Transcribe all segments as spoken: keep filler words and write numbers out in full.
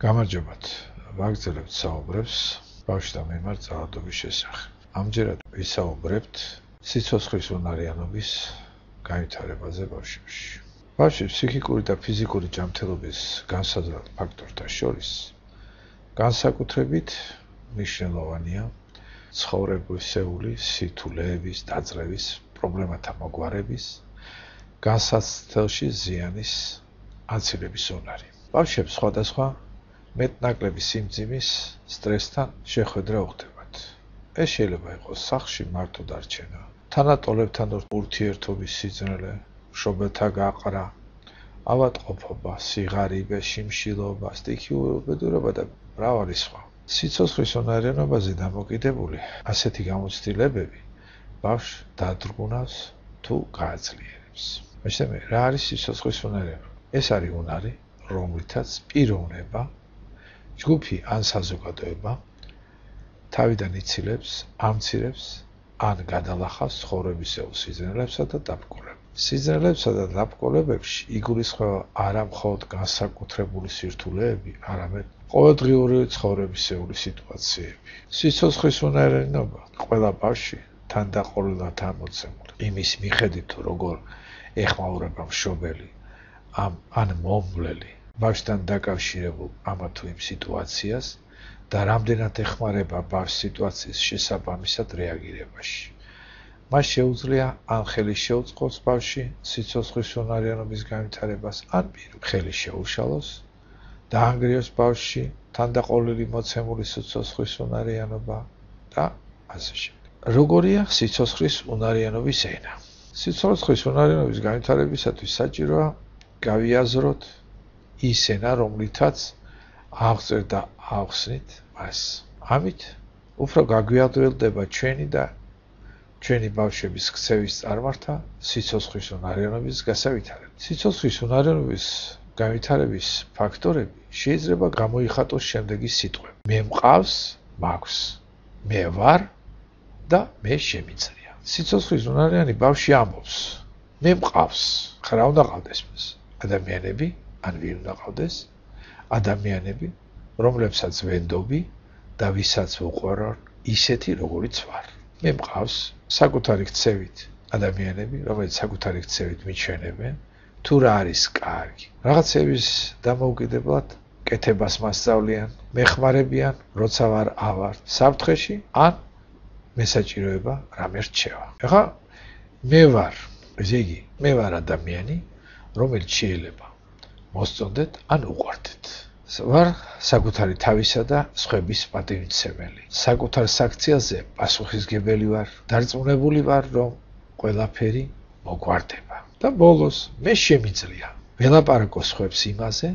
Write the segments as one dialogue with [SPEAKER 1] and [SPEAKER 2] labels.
[SPEAKER 1] გამარჯობათ. ვაგრძელებთ საუბრებს ბავშვთა მიმართ ძალადობის შესახებ. ამჯერად ვისაუბრებთ სიცოცხლის უნარიანობის განვითარებაზე ბავშვებში. ბავშვის ფსიქიკური და ფიზიკური ჯანმრთელობის განსაზღვრელ ფაქტორთა შორის განსაკუთრებით მნიშვნელოვანია ცხოვრებისეული სირთულეების დაძლევის, პრობლემათა მოგვარების, განსაცდელში ზიანის აცილების უნარი. ბავშვებს სხვადასხვა მეტნაკლები სიმძიმის, სტრესთან შეხვედრა უხდებათ. ეს შეიძლება იყოს სახლში მარტო დარჩენა, თანატოლებთან ურთიერთობის სიძნელე, მშობელთა გაყრა, ავადმყოფობა, სიღარიბე, შიმშილობა, სტიქიურობა და მრავალი სხვა. სიცოცხლის უნარიანობაზე დამოკიდებული ასეთი გამოცდილებები ბავშვს დადრგუნავს თუ გააძლიერებს. მეცნე რა არის სიცოცხლის უნარიანობა? ეს არის უნარი, რომლითაც პიროვნება, ჯგუფი ან საზოგადოება თავიდან იცილებს, ამცირებს ან გადალახავს ცხოვრებისეულ სიძნელებსა და დაბრძოლებებს. სიძნელებსა და დაბრძოლებებში იგულისხმება არა მხოლოდ განსაკუთრებული სირთულეები, არამედ ყოველდღიური ცხოვრებისეული სიტუაციები. სიცოცხლის უნარიანობა ყველა ბავშვი თანდაყოლილად ამოცემული. იმის მიხედვით თუ როგორ ეხმაურება მშობელი ამ ან მომვლელი ბავშვთან დაკავშირებულ ამა თუ იმ სიტუაციას და რამდენად ეხმარება ბავშვს სიტუაციის შესაბამისად რეაგირებაში. მას შეუძლია ან ხელი შეუწყოს ბავშვი სიცოცხლის უნარიანობის განვითარებას, ან ხელი შეუშალოს, დაანგრიოს ბავშვში თანდაყოლილი მოცემული სიცოცხლის უნარიანობა და ასე შემდეგ. როგორია სიცოცხლის უნარიანობის ენა? სიცოცხლის უნარიანობის განვითარებისათვის საჭიროა გავიაზროთ ის ენა, რომლითაც აღწერთ და ავხსნით მას. ამით უფრო გაგვიადვილდება ჩვენი და ჩვენი ბავშვების ქცევის წარმართა სიცოცხლის უნარიანობის გასავითარებლად. სიცოცხლის უნარიანობის განვითარების ფაქტორები შეიძლება გამოიხატოს შემდეგი სიტყვები: მე მყავს, მაქვს, მე ვარ და მე შემიძლია. სიცოცხლის უნარიანი ბავშვი ამბობს: მე მყავს. რა უნდა ყავდეს მას? ადამიანები, ან ვინ უნდა ყავდეს? ადამიანები, რომლებსაც ვენდობი და ვისაც ვუყვარვარ ისეთი, როგორიც ვარ. მე მყავს საკუთარი ქცევით ადამიანები, რომელიც საკუთარი ქცევით მიჩვენებენ, თუ რა არის კარგი. რაღაცების დამოუკიდებლად კეთებას მასწავლიან, მეხმარებიან, როცა ვარ ავარ საფრთხეში, ან მესაჭიროება რამე რჩევა. ახლა მე ვარ, ესე იგი, მე ვარ ადამიანი, რომელიც შეიძლება მოსწონდეთ ან უყვარდეთ. ვარ საკუთარი თავისა და სხვების პატივმცემელი. საკუთარ საქციელზე პასუხისმგებელი ვარ, დარწმუნებული ვარ, რომ ყველაფერი მოგვარდება. და ბოლოს მე შემიძლია ველაპარაკო სხვებს იმაზე,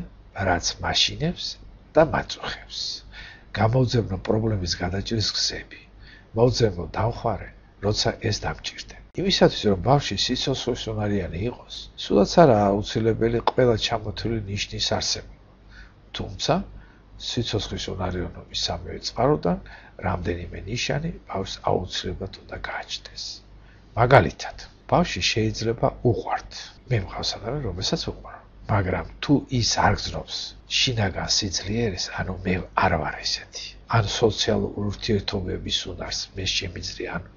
[SPEAKER 1] რაც მაშინებს და მაწუხებს. გამოვძებნო პრობლემის გადაჭრის გზები. მოვძებნო დამხმარე, როცა ეს დამჭირდება. იმისათვის, რომ ბავშვი სიცოცხლის უნარიანი იყოს, სულაც არაა აუცილებელი ყველა ჩამოთვლილი ნიშნის არსებობა. თუმცა, სიცოცხლის უნარიანობის სამივე წყაროდან რამდენიმე ნიშანი ბავშვს აუცილებლად უნდა გააჩნდეს. მაგალითად, ბავშვი შეიძლება უყვართ. მე მყავს ადამიანი, რომელსაც უყვარვ. მაგრამ თუ ის არ გრძნობს შინაგან სიძლიერეს, ანუ მე არ ვარ ესეთი, ან სოციალურ ურთიერთობების უნარს მე შემიძლია, ანუ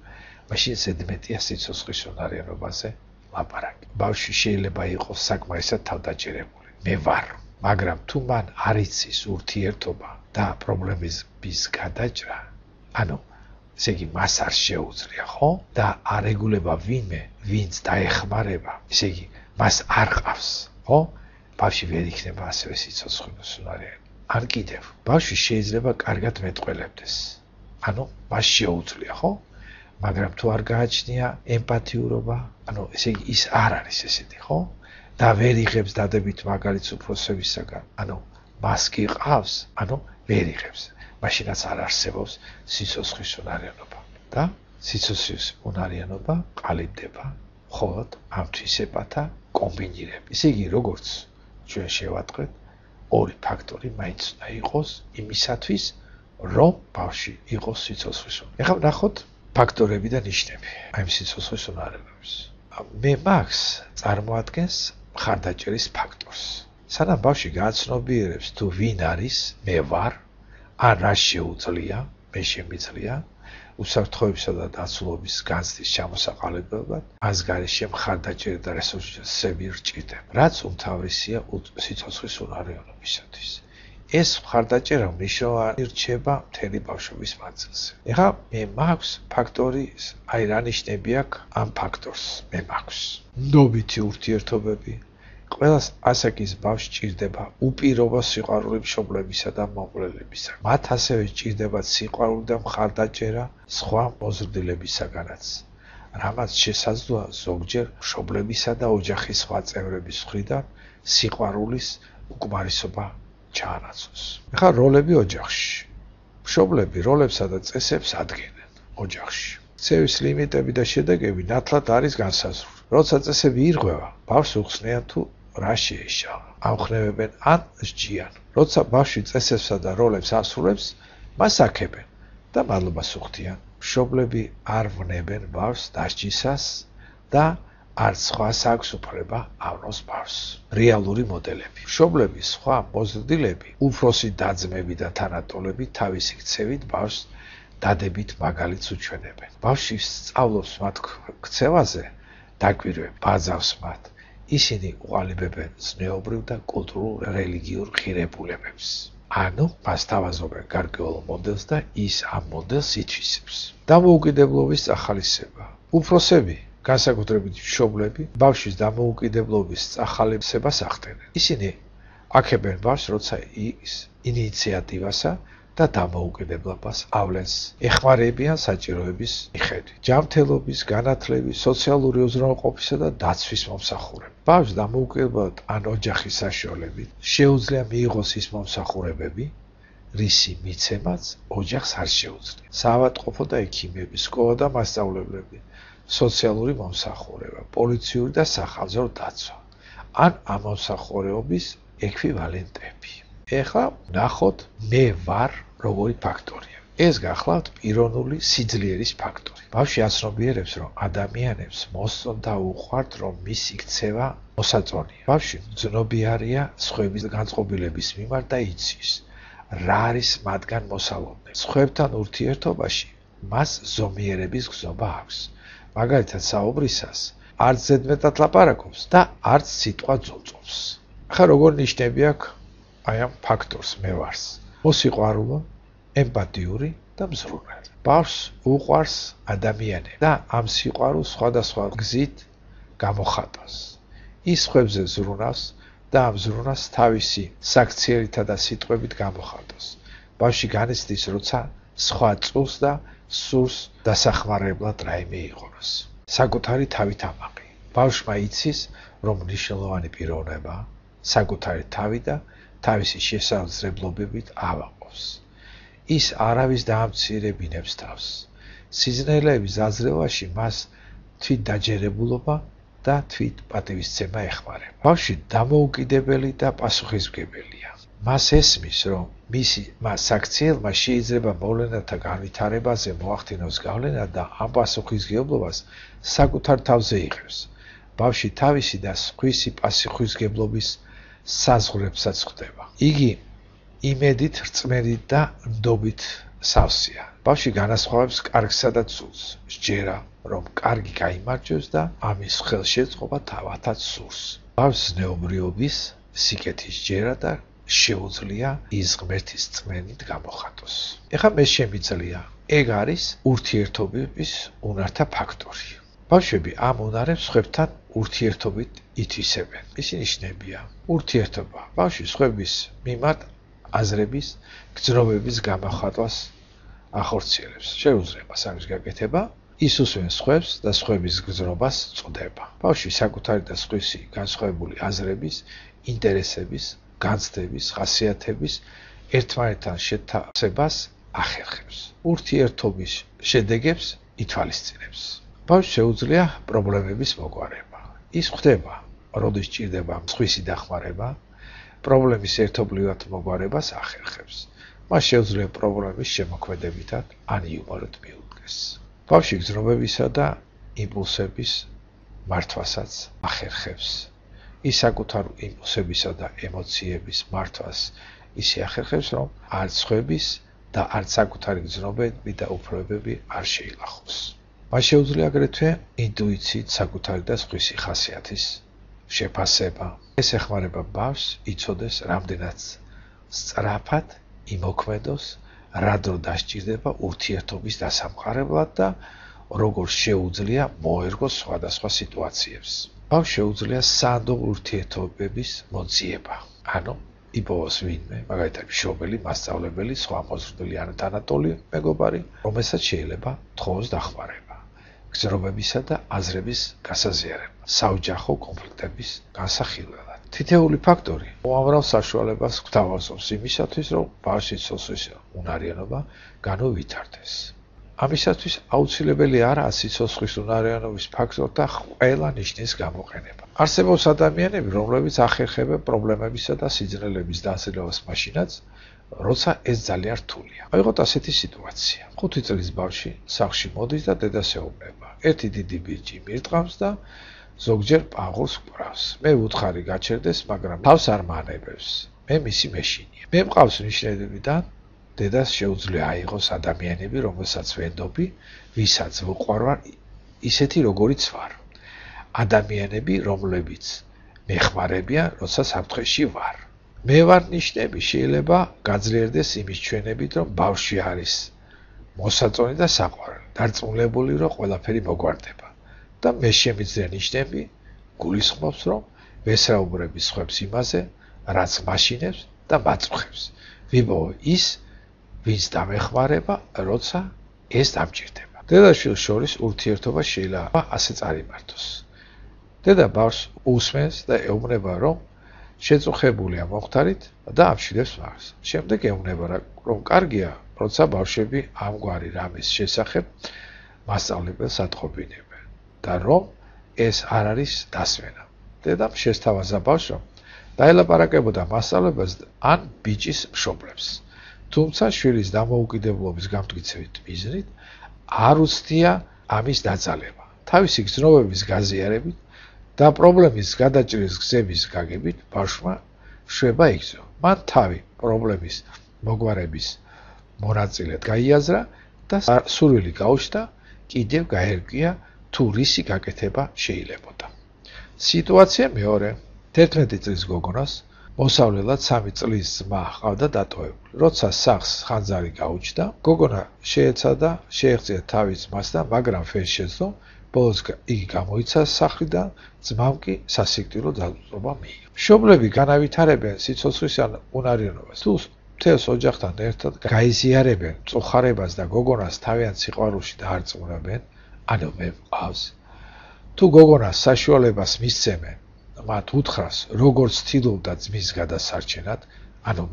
[SPEAKER 1] მაშინ ზედმეტია სიცოცხლის უნარიანობაზე ლაპარაკი. ბავშვი შეიძლება იყოს საკმარისად თავდაჭერებული. მე ვარ, მაგრამ თუ მან არ იცის ურთიერთობა და პრობლემების გადაჭრა, ანუ ესე იგი მას არ შეუძლია, ხო? და არ ეგულება ვინმე, ვინც დაეხმარება, ესე იგი მას არ ყავს, ხო? ბავშვი ვერ იქნება ასევე სიცოცხლის უნარიანი. ან კიდევ, ბავშვი შეიძლება კარგად მეტყველებდეს. ანუ მას შეუძლია, ხო? მაგრამ თუ არ გააჩნია ემპათიურობა, ანუ ესე იგი ის არ არის ესეთი, ხო? და ვერ იღებს დადებით მაგალითს უფროსებისაგან, ანუ მას კი ყავს, ანუ ვერ იღებს. მაშინაც არ არსებობს სიცოცხლის უნარიანობა. და სიცოცხლის უნარიანობა ყალიბდება მხოლოდ ამ თვისებათა კომბინირებით. ესე იგი, როგორც ჩვენ შევატყვეთ, ორი ფაქტორი მაინც უნდა იყოს იმისათვის, რომ ბავშვი იყოს სიცოცხლის უნარიანი. ეხლა ვნახოთ ფაქტორები და ნიშნები აი სიცოცხლის უნარიანობის. მე მაქვს წარმოადგენს მხარდაჭერის ფაქტორს. სანამ ბავშვი გააცნობიერებს თუ ვინ არის, მე ვარ, ან რა შეუძლია, მე შემიძლია, უსაფრთხოებისა და დაცულობის განცდის ჩამოსაყალებლად, მას გარეშე მხარდაჭერა და რესურსები რჭირდება, რაც უმთავრესია სიცოცხლის უნარიანობისათვის. ეს მხარდაჭერა მნიშვნელოვანი რჩება მთელი ბავშვობის მანძილზე. ეხლა მე მაქვს ფაქტორი, აი რა ნიშნები აქვს ამ ფაქტორს, მე მაქვს. ნდობითი ურთიერთობები, ყველას ასაკის ბავშვს ჭირდება უპირობო სიყვარული მშობლებისა და მომღვრელებისა. მათ ასევე ჭირდება სიყვარული და მხარდაჭერა სხვა მოზრდილებისაგანაც, რამაც შესაძლოა ზოგჯერ მშობლებისა და ოჯახის სხვა წევრების მხრიდან სიყვარულის უკმარისობა ჩაანაცვლოს. ეხლა როლები ოჯახში. მშობლები როლებსა და წესებს ადგენენ ოჯახში. ცევის ლიმიტები და შედეგები ნათლად არის განსაზღვრული. როცა წესები ირღვევა, ბავშვს უხსნიან თუ რა შეეშალა. ამხნევებენ ან სჯიან. როცა ბავშვი წესებსა და როლებს ასრულებს, მას აქებენ და მადლობას უხდიან. მშობლები არ ვნებენ ბავშვს დასჯისას და არც სხვას აქვს უფლება ავნოს ბავშვს. რეალური მოდელები. მშობლები, სხვა მოზრდილები, უფროსი და-ძმები და თანატოლები თავისი ქცევით ბავშვს დადებით მაგალითს უჩვენებენ. ბავშვი სწავლობს მათ ქცევაზე, დაკვირვებ, ბაძავს მათ. ისინი უყალიბებენ ზნეობრივ და კულტურულ რელიგიურ ღირებულებებს. ანუ მას თავაზობენ გარკვეულ მოდელს და ის ამ მოდელს ითვისებს. დამოუკიდებლობის წახალისება. უფროსები, განსაკუთრებით მშობლები, ბავშვის დამოუკიდებლობის წახალისებას ახდენენ. ისინი აქებენ ბავშვს, როცა ის ინიციატივასა და დამოუკიდებლობას ავლენს, ეხმარებიან საჭიროების მიხედვით. ჯანმრთელობის, განათლების, სოციალური უზრუნველყოფისა და დაცვის მომსახურება. ბავშვს დამოუკიდებლად ან ოჯახის საშუალებით შეუძლია მიიღოს ის მომსახურებები, რისი მიცემაც ოჯახს არ შეუძლია. საავადმყოფო და ექიმები, სკოლა და მასწავლებლები, სოციალური მომსახურება, პოლიციური და სახალხო დაცვა, ან ამ მომსახურებების ექვივალენტები. ეხლა ნახოთ მე ვარ როგორი ფაქტორია. ეს გახლავთ პიროვნული სიძლიერის ფაქტორი. ბავშვი აცნობიერებს, რომ ადამიანებს მოსწონთ და უყვართ, რომ მისი ქცევა მოსაწონია. ბავშვი მძნობიარია სხვების განწყობილების მიმართ და იცის, რა არის მათგან მოსალოდნელი. სხვებთან ურთიერთობაში მას ზომიერების გზობა აქვს. მაგალითად საუბრისას არც ზედმეტად ლაპარაკობს და არც სიტყვა ძოწობს. ახლა როგორ ნიშნები აქვს აი ამ ფაქტორს მე ვარს? მოსიყვარულო, ემპათიური და მზრუნველი. ბავშვს უყვარს ადამიანები და ამ სიყვარულს სხვადასხვა გზით გამოხატავს. ის სხვებზე ზრუნავს და ამ ზრუნვას თავისი საქციერითა და სიტყვებით გამოხატავს. ბავშვი განიცდის, როცა სხვა წულს და სურს დასახმარებლად რაიმე იყონოს. საკუთარი თავით ამაყი. ბავშვმა იცის, რომ მნიშვნელოვანი პიროვნება საკუთარი თავი და თავისი შესაძლებლობებით ავაყობს. ის არავის დაამცირებინებს თავს. სიზნელეების აზრევაში მას თვით დაჯერებულობა და თვით პატივისცემა ეხმარება. ბავშვი დამოუკიდებელი და პასუხისმგებელია. მას ესმის, რომ მისი მას საქციელმა შეიძლება მოვლენათა განვითარებაზე მოახდინოს გავლენა და ამ პასუხისმგებლობას საკუთარ თავზე იღებს. ბავშვი თავისი და სხვისი პასუხისმგებლობის საზღვრებსაც ხვდება. იგი იმედით, რწმენით და ნდობით სავსეა. ბავშვი განასხვავებს კარგსა და ცუდს, სჯერა, რომ კარგი გაიმარჯვებს და ამის ხელშეწყობა თავათაც სურს. ბავშვს ზნეობრიობის, სიკეთის სჯერა და შეუძლია ის ღმერთის წმენით გამოხატოს. ეხლა მე შემიძლია. ეგ არის ურთიერთობების უნართა ფაქტორი. ბავშვები ამ უნარებს სხვებთან ურთიერთობით ითვისებენ. ისინი ნიშნებია ურთიერთობა. ბავშვი სხვების მიმართ აზრების, გრძნობების გამოხატვას ახორციელებს. შეუძლება სამის გაკეთება, ის უსვენს სხვებს და სხვების გრძნობას წვდება. ბავშვი საკუთარი და სხვისი განსხვავებული აზრების, ინტერესების, განცდების, ხასიათების ერთმანეთთან შეთავსებას ახერხებს. ურთიერთობის შედეგებს ითვალისწინებს. ბავშვს შეუძლია პრობლემების მოგვარება. ის ხვდება, როდის ჭირდება სხვისი დახმარება, პრობლემის ერთობლივად მოგვარებას ახერხებს. მას შეუძლია პრობლემის შემოქმედებითად ან იუმორით მიუდგეს. ბავშვი გრძნობებისა და იმპულსების მართვასაც ახერხებს. ის საკუთარ იმპულსებისა და ემოციების მართვას ისე ახერხებს, რომ არც სხვების და არც საკუთარი გრძნობები და უფლებები არ შეილახოს. მას შეუძლია აგრეთვე ინტუიციით საკუთარი და სხვისი ხასიათის შეფასება. ეს ეხმარება ბავშვს იცოდეს, რამდენად სწრაფად იმოქმედოს, რა დრო დასჭირდება ურთიერთობის დასამყარებლად და როგორ შეუძლია მოერგოს სხვადასხვა სიტუაციებს. ბავშვს შეუძლია სანდო ურთიერთობების მოძიება, ანუ იპოვოს ვინმე, მაგალითად მშობელი, მასწავლებელი, სხვა მოზრდილი ან თანატოლი მეგობარი, რომელსაც შეიძლება თხოვოს დახმარება, გზნობებისა და აზრების გასაზიარება, საოჯახო კონფლიქტების განსახილველად. თითეული ფაქტორი უამრავ საშუალებას გვთავაზობს იმისათვის, რომ ბავშვის სიცოცხლის უნარიანობა განუვითარდეს. ამისათვის აუცილებელი არაა სიცოცხლის უნარიანობის ფაქტორთა ყველა ნიშნის გამოყენება. არსებობს ადამიანები, რომლებიც ახერხებენ პრობლემებისა და სიძნელების დასრულებას მაშინაც, როცა ეს ძალიან რთულია. აიღოთ ასეთი სიტუაცია. ხუთი წლის ბავშვი სახლში მოდის და დედას ეუბნება. ერთი დიდი ბიჭი მირტყავს და ზოგჯერ პაღურს კვრავს. მე ვუთხარი გაჩერდეს, მაგრამ თავს არ მანებებს. მე მისი მეშინია. მე მყავს ნიშნებიდან დედას შეუძლია აიღოს ადამიანები, რომელსაც ვენდობი, ვისაც ვუყვარვარ, ისეთი როგორიც ვარ. ადამიანები, რომლებიც მეხმარებიან, როცა საფრთხეში ვარ. მე ვარ ნიშნები, შეიძლება გაძლიერდეს იმის ჩვენებით, რომ ბავშვი არის მოსაწონი და საყვარელი, დარწმუნებული, რომ ყველაფერი მოგვარდება. და მე შემიძლია ნიშნები გულისხმობს, რომ ვესაუბრები სხვებს იმაზე, რაც მაშინებს და მაწუხებს. ვიპოვო ის, ვინც დამეხმარება, როცა ეს დამჭირდება. დედაშვილს შორის ურთიერთობა შეიძლება ასე წარიმართოს. დედა ბავშვს უსმენს და ეუბნება, რომ შეწუხებულია მომხდარით და ამშვიდებს მას. შემდეგ ეუბნება, რომ კარგია, როცა ბავშვები ამგვარი რამის შესახებ მასწავლებელს ატყობინებენ და რომ ეს არ არის დასმენა. დედამ შესთავაზა ბავშვს, რომ დაელაპარაკებოდა მასწავლებელს ან ბიჭის მშობლებს. თუმცა შვილის დამოუკიდებლობის გამტკიცებით მიზნით არ უცდია ამის დაძალება. თავისი გრძნობების გაზიარებით და პრობლემის გადაჭრის გზების გაგებით ბავშვმა შვება იგრძო. მან თავი პრობლემის მოგვარების მონაწილედ გაიაზრა და სურვილი გაუჩნდა კიდევ გაერკვია თუ რისი გაკეთება შეიძლებოდა. სიტუაცია მეორე. თერთმეტი წლის გოგონას მოსავლელად სამი წლის ძმა ჰყავდა დატოვებული. როცა სახლს ხანძარი გაუჩნდა, გოგონა შეეცადა შეეღწია თავის ძმასთან, მაგრამ ვერ შეძლო. ბოლოს იგი გამოიცა სახლიდან, ძმამ კი სასიკვდილო ძალადობა მიიღო. მშობლები განავითარებენ სიცოცხლის უნარიანობას. თუ მთელს ოჯახთან ერთად გაიზიარებენ მწუხარებას და გოგონას თავიანთ სიყვარულში დაარწმუნებენ, ანუ მე მყავს. თუ გოგონას საშუალებას მისცემენ, მათ უთხრას, როგორც ცდილობდა ძმის გადასარჩენად, ანუ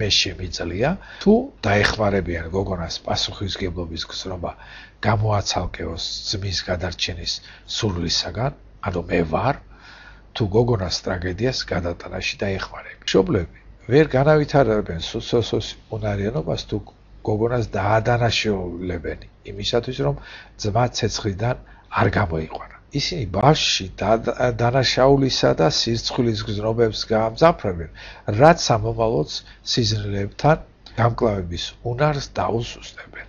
[SPEAKER 1] მე შემიძლია, თუ დაეხმარებიან გოგონას პასუხისმგებლობის გზნობა გამოაცალკეოს ძმის გადარჩენის სურვილისაგან, ანუ მე ვარ, თუ გოგონას ტრაგედიას გადატანაში დაეხმარებიან. მშობლები ვერ განავითარებენ სიცოცხლის უნარიანობას, თუ გოგონას დაადანაშაულებენ იმისათვის, რომ ძმა ცეცხლიდან არ გამოიყვანა. ისინი ბავშვში დანაშაულისა და სირცხვილის გზნობებს გაამძაფრებენ, რაც სამომავლოდ სიზნელებთან გამკლავების უნარს დაუსუსტებენ.